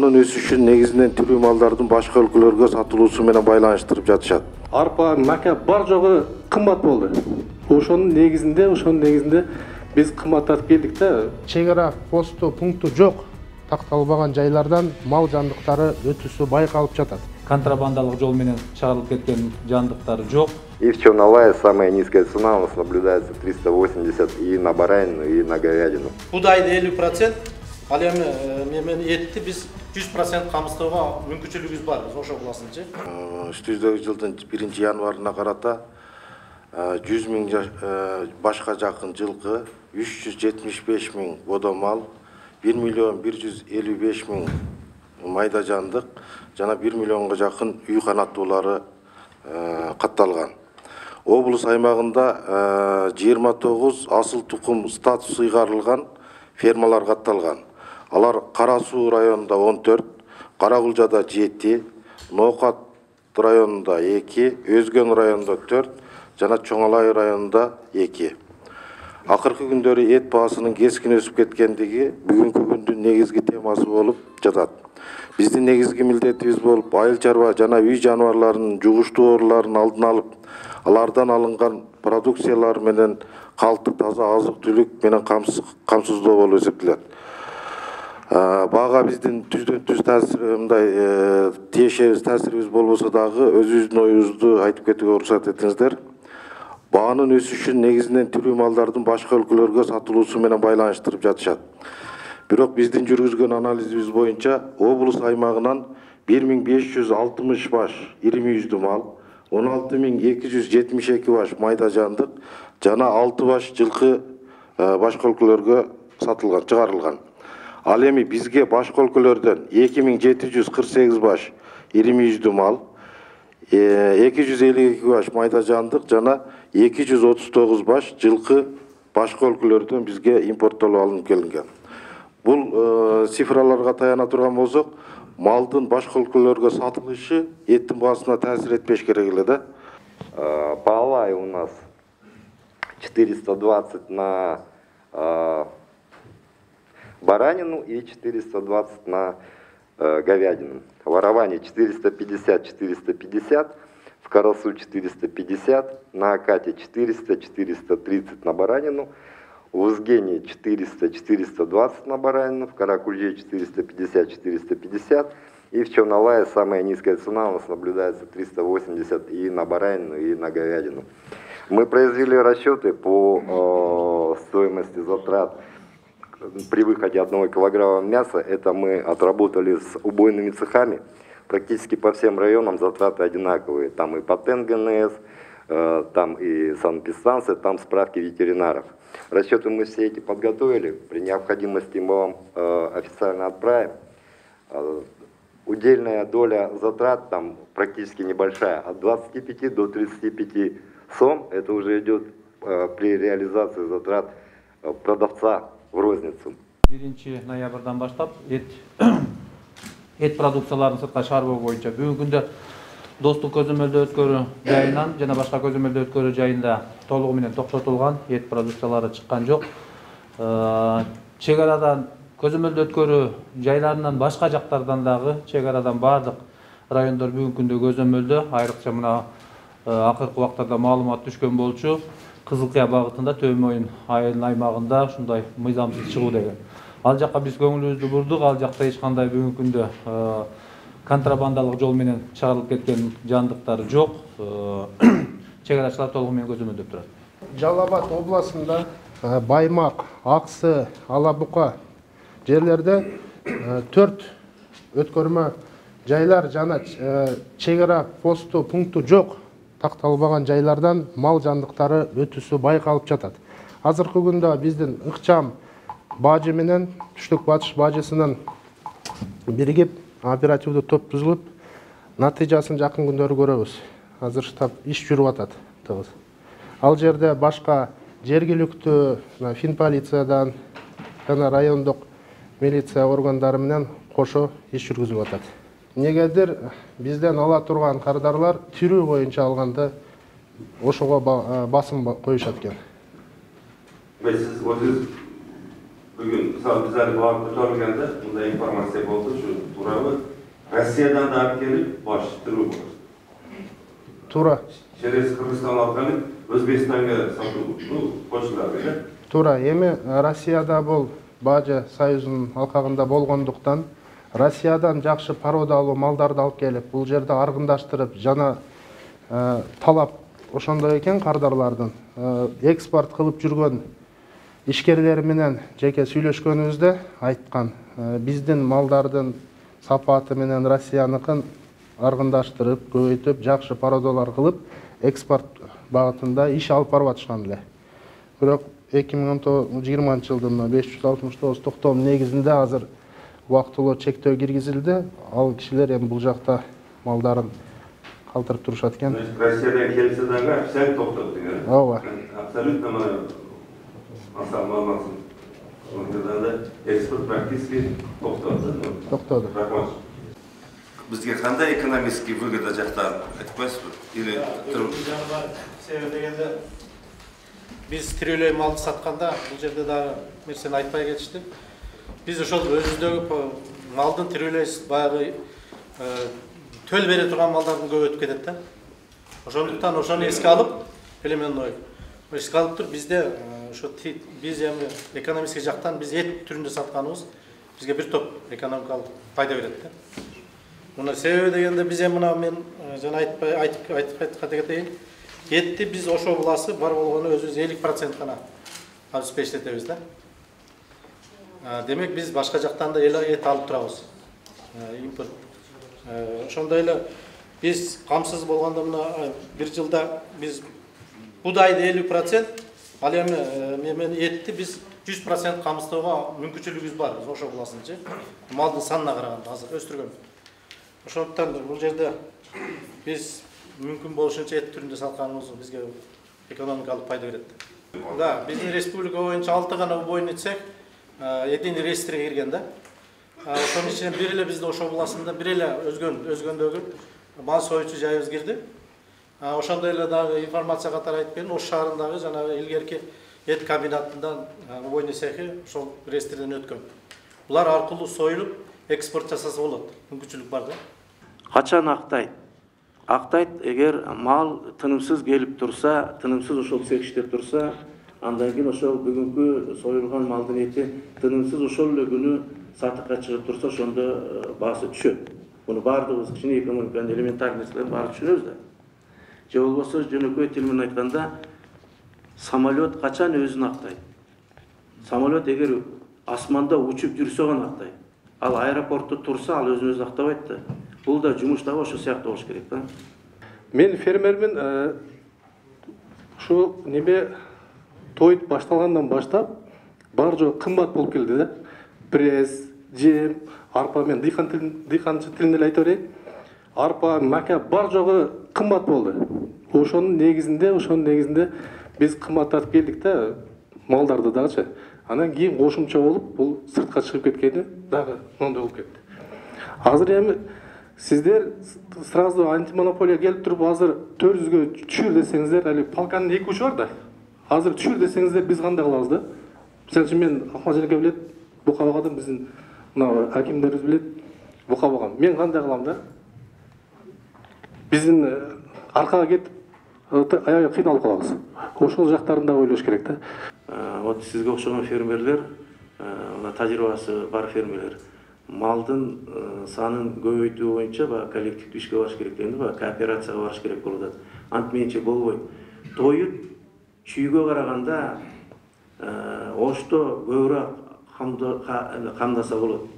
Баанын өсүшүн негизинен тирүү малдардын башка өлкөлөргө сатылуусу менен байланыштырып жатышат. Арпа, мака бар жогу кымбат болду. Ошонун негизинде биз кымбаттатып келдик да. Чек ара посту пункту жок такталбаган жайлардан мал жандыктары өтүүсү байкалып жатат. Контрабандалык жол менен чыгарылып кеткен жандыктар жок. И в Черновае самая низкая цена у нас наблюдается 380 и на баранину, и на говядину. Будайды 50%, ал эми этти биз 100% камсыздоого мүмкүнчүлүгүбүз бар, ошо буласынчы. Үстүбүздөгү жылдын 1-январына карата 100 000 башка жакын жылкы, 375 000 бодомал, 1 155 000 майда жандык жана 1 миллионго жакын үй канаттуулары катталган. Облус аймагында 29 асыл тукум статусу ыйгарылган фермалар катталган. Алар Кара Суу районунда 14, Каракулжада 7, Ноокат районунда 2, Өзгөн районунда 4 жана Чоңалай районунда 2. Акыркы күндөрү эт баасынын кескин өсүп кеткендиги бүгүнкү күндүн негизги темасы болуп жатат. Биздин негизги милдетибиз болуп айыл чарба жана үй жаныбарларынын жугуштуу ооруларын алдын алып, алардан алынган продукциялар менен калктык таза азык-түлүк менен камсыздоо болуп эсептелет. Бага биздин түздөн-түз таасирибиз болбосо дагы өзүбүздүн оюбузду айтып кетүүгө уруксат этиңиздер. Баанын өсүшүн негизинен тирүү малдардын башка өлкөлөргө сатылуусу менен байланыштырып жатышат. Бирок биздин жүргүзгөн анализибиз боюнча облус аймагынан 1560 баш ири мүйүздүү мал, 16272 баш майда жандык жана 6 баш жылкы башка өлкөлөргө сатылган, чыгарылган. Ал эми бизге башка өлкөлөрдөн 2748 баш ири мүйүздүү мал, 252 баш майда жандык жана 239 баш жылкы башка өлкөлөрдөн бизге импорттолуп алынып келинген. Бул цифраларга таяна турган болсок, малдын башка өлкөлөргө сатылышы эттин баасына таасир этпеш керек эле да. Паалай у нас 420 на баранину и 420 на говядину. В Араване 450, в Карасу 450, на Акате 430 на баранину, в Узгене 420 на баранину, в Каракульже 450 и в Черновае самая низкая цена у нас наблюдается 380 и на баранину, и на говядину. Мы произвели расчеты по стоимости затрат при выходе 1 килограмма мяса. Это мы отработали с убойными цехами. Практически по всем районам затраты одинаковые. Там и патент ГНС, там и санэпидстанция, там справки ветеринаров. Расчеты мы все эти подготовили. При необходимости мы вам официально отправим. Удельная доля затрат там практически небольшая. От 25 до 35 сом. Это уже идет при реализации затрат продавца в розницу. 1 ноябрдан баштап эт продукцияларын сыртка чыгаруу боюнча бүгүнкү күндө Достук көзөмөлдөө өткөрүү жайынан жана башка көзөмөлдөө өткөрүү жайында толугу менен токтотулган, эт продукциялары чыккан жок. Чек арадан көзөмөлдөө өткөрүү жайларынан башка жактардан дагы чек арадан бардык райондор бүгүнкү күндө көзөмөлдөө, айрыкча мына акыркы убактарда маалымат түшкөн болчу. Кызылкыя багытында Төө Моюн айылынын аймагында ушундай мыйзамсыз чыгуу деген. Ал жакка биз көңүлүбүздү бурдук, ал жакта эч кандай бүгүнкү күндө контрабандалык жол менен чыгарылып кеткен жандыктар жок. Чек арачылар толугу менен көзөмөлдөп турат. Жалал Абад областында Баймак, Аксы, Алабука жерлерде 4 өткөрмө жайлар жана чек ара посту пункту жок такталбаган жайлардан мал жандыктары өтүүсү байкалып жатат. Азыркы күндө биздин ыкчам бажы менен Түштүк Батыш бажысынын биригип оперативдүү топ түзүлүп, натыйжасын жакын күндөрү көрөбүз. Азыр штаб иш жүрүп атат. Ал жерде башка жергиликтүү фин-полициядан жана райондук милиция органдары менен кошо иш жүргүзүлүп атат. Негедир бизден ала турган кардарлар тирүү боюнча алганда ошого басым коюшат экен. Сиз өзүңүз бүгүн мисалы биз али багып көтөрүлгөндө мындай информация болду, ушу сурабы Россиядан да алып келип баштыруу болот. Туура. Через Кыргызстан алып келип Өзбекстанга сатуу кошулат эле. Туура. Эми Россияда бул Бажы Союзунун алкагында болгондуктан Россиядан жакшы породалуу малдарды алып келип, бул жерде аргындаштырып, жана талап ошондой экен кардарлардын. Экспорт кылып жүргөн ишкерлер менен жеке сүйлөшкөнүбүздө айткан, биздин малдардын сапаты менен Россияныкын аргындаштырып, көбөйтүп, жакшы породалар кылып, экспорт багытында иш алып барып атышкан эле. Бирок 2020 жылдын 569 токтом негизинде азыр убактылуу чектөө киргизилди. Ал кишилер эми бул жакта малдарын калтырып турушат экен. Россиядан келсе дагы официально токтоп деген. Ооба. Абсолютно мына массалмасын. Ошондо экспорт практически токтоду. Токтоду. Рахмат. Бизге кандай экономический выгода жактан айтпайсызбы? Или себеби дегенде биз тирелей малды сатканда бул жерде дагы нерсени айтпай кетиштик. Биз ошол өзүбүздөгү малдын тирелей баягы төл бере турган малдардын көп өтүп кетет да. Ошондуктан ошону эске алып, элеменной эске алып туруп бизде ошо биз эми экономический жактан биз эт түрүндө сатканыбыз бизге бир топ экономикалык пайда берет да. Мына себеби дегенде биз эми мына мен жана айтып кетейин. Этти биз ошо буласы бар болгону өзүбүз 50% гана обеспечить этебиз да. Демек биз башка жактан да эт алып турабыз. Импорт. Ошондой эле биз камсыз болгондо мына бир жылда биз будайды 50%, ал эми этти биз 100% камсыздоого мүмкүнчүлүгүбүз бар. Ошо буласынчы. Малдын санына караганда азыр өстүргөн. Ошондуктан бул жерде биз мүмкүн болушунча эт түрүндө сатканыбыз бизге экономикалык пайда берет. Да, биздин республика боюнча 6 гана убойный цех единый реестрге кирген да. Ошонун ичинен бир эле биздин ошо буласында бир эле өзгөндөгү мал союучу жайыбыз кирди. Ошондой эле дагы информация катары айтып берейин, Ош шаарындагы жанагы илгерки эт комбинатындан убойный цехи ошол реестрден өткөн. Булар аркылуу союлуп экспорт жасаса болот. Мүмкүнчүлүк бар да. Качан актайт? Актайт эгер мал тынымсыз келип турса, тынымсыз ошол цех иштеп турса, андан кийин ошол бүгүнкү союлган малдын эти тынымсыз ошол эле күнү сатыкка чыгып турса, ошондо баасы түшөт. Буну баардыгыбыз кичине экономиканын элементарный нерселерин баары түшүнөбүз да. Же болбосо жөнөкөй тил менен айтканда, самолет качан өзүн актайт? Самолет эгер асманда учуп жүрсө гана актайт. Ал аэропортто турса, ал өзүн-өзү актабайт да. Бул да жумуш дагы ошо сыяктуу болуш керек да. Мен фермермин. Ушу неме той башталгандан баштап бар жок кымбат болуп келди да. Пресс, жем, арпа, мен дыйканчы тилинде эле айта берейин. Арпа, мака бар жогу кымбат болду. Ошонун негизинде биз кымбаттатып келдик да, малдарды дагычы. Анан кийин кошумча болуп, бул сыртка чыгып кеткени дагы мондой болуп кетти. Азыр эми сиздер сразу антимонополия келип туруп, азыр 400гө түшүр десеңиздер, али полканын 2 учу бар да. Азыр түшүр десеңиздер, биз кандай кылабыз да? Мисалы үчүн мен Акмажанке билет, бука багадым, биздин мына акимдерибиз билет, бука багам. Мен кандай кылам да? Биздин аркага кетип, аябай кыйналып калабыз. Ошол жактарын да ойлош керек да. Вот сизге окшогон фермерлер, мына тажрыйбасы бар фермерлер, малдын санын көбөйтүү боюнча коллективдүү ишке барыш керек дегенде, кооперацияга барыш керек болуп атат. Антменче болбойт. Тоюп чүйгө караганда Ошто көбүрөөк камдаса болот.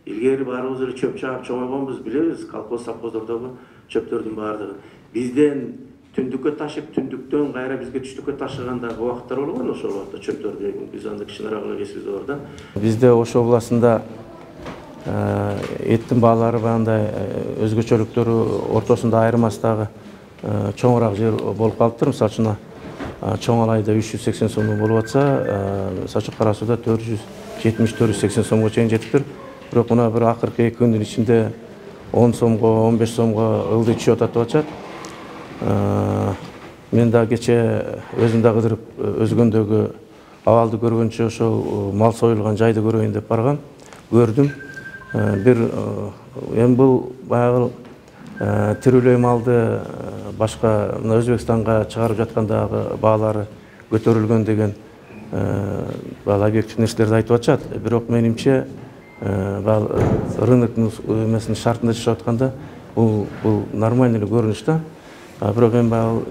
Илгери баарыбыз эле чөп чаап чоңойгонбуз, билебиз, колхоз совхоздордогу чөптөрдүн баардыгы. Бизден түндүккө ташып, түндүктөн кайра бизге түштүккө ташыгандагы убакыттар болгон, ошол убакта чөптөрдү биз анда кичинерээк эле кесибиз бар да. Бизде Ош областында эттин баалары баягындай өзгөчөлүктөрү ортосунда айырмастагы чоңураак жер болуп калыптыр. Мисалы үчүн чоң алайда 380 сомдон болуп атса, мисалы үчүн Кара сууда 470-480 сомго чейин жетиптир. Бирок мына бир акыркы 2 күндүн ичинде 10 сомго, 15 сомго ылдый түшүп атат деп атышат. Мен да кече өзүм да кыдырып өзгөндөгү абалды көргөнчө ошол мал союлган жайды көрөйүн деп баргам, көрдүм. бир эми бул баягы тирүүлөй малды башка мына Өзбекстанга чыгарып жаткандагы баалары көтөрүлгөн деген баягы объектив нерселерди айтып атышат. Бирок менимче рынок эмесинин шартында жашап атканда бул нормальный эле көрүнүш да. Бирок эми баягы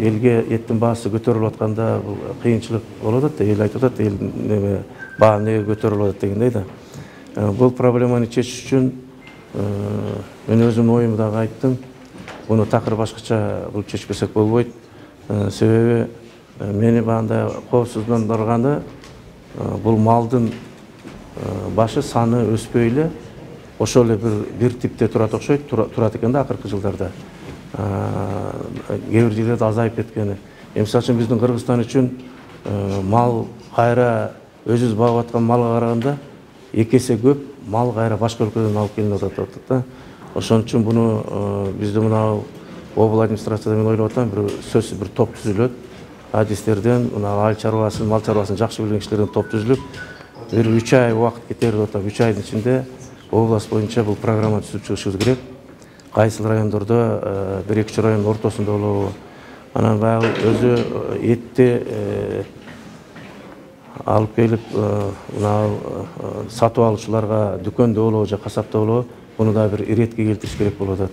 элге эттин баасы көтөрүлүп атканда бул кыйынчылык болуп атат да, эл айтып атат, эл неме баа эмнеге көтөрүлүп атат дегендей да. Бул проблеманы чечиш үчүн мен өзүмдүн оюмду дагы айттым. Буну такыр башкача кылып чечпесек болбойт. Себеби мени баандай коопсуздандырганы бул малдын башы саны өспөй эле ошол эле бир типте турат окшойт, турат экен да акыркы жылдарда. Кээ бир жерлерде азайып кеткени. Мисалы үчүн биздин Кыргызстан үчүн мал кайра өзүбүз багып аткан малга караганда 2 эсе көп мал кайра башка өлкөдөн алып келинип атат да. Ошон үчүн буну бизде мына обл администрацияда мен ойлоп атам, бир сөзсүз бир топ түзүлөт. Адистерден, мына мал чарбасын жакшы билген кишилерден топ түзүлүп, бир 3 ай убакыт кетер деп атам. 3 айдын ичинде область боюнча бул программа түзүп чыгышыбыз керек. Кайсыл райондордо, 1-2 райондун ортосунда болобу. Анан баягы өзү этти алып келип мына сатып алуучуларга дүкөндө болобу же касапта болобу, буну да бир иретке келтириш керек болуп атат.